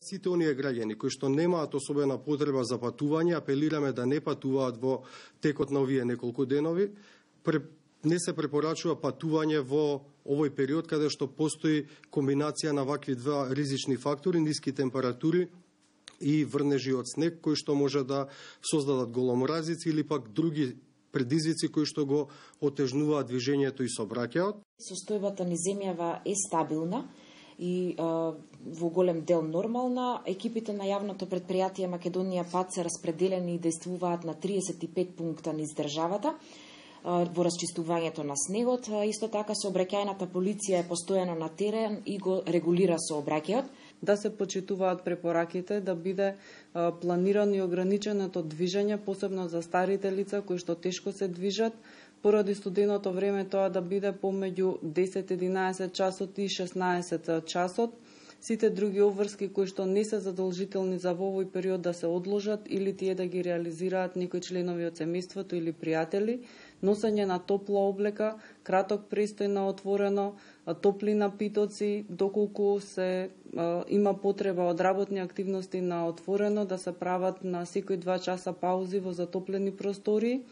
Сите оние граѓани кои што немаат особена потреба за патување, апелираме да не патуваат во текот на овие неколку денови. Не се препорачува патување во овој период каде што постои комбинација на вакви два ризични фактори, ниски температури и врнежи од снег, кои што може да создадат голоморазици или пак други предизвици кои што го отежнуваат движењето и сообраќајот. Состојбата низ земјава е стабилна и во голем дел нормална. Екипите на јавното предпријатие Македонија Пат се распределени и действуваат на 35 пункта низ државата во расчистувањето на снегот. Исто така сообраќајната полиција е постојано на терен и го регулира сообраќајот. Да се почитуваат препораките, да биде планирано и ограниченото движење, посебно за старите лица кои што тешко се движат, поради студеното време тоа да биде помеѓу 10-11 часот и 16 часот. Сите други обврски кои што не се задолжителни за во овој период да се одложат или тие да ги реализираат некои членови од семејството или пријатели, носење на топла облека, краток престој на отворено, топли напитоци, доколку се има потреба од работни активности на отворено, да се прават на секои 2 часа паузи во затоплени простории.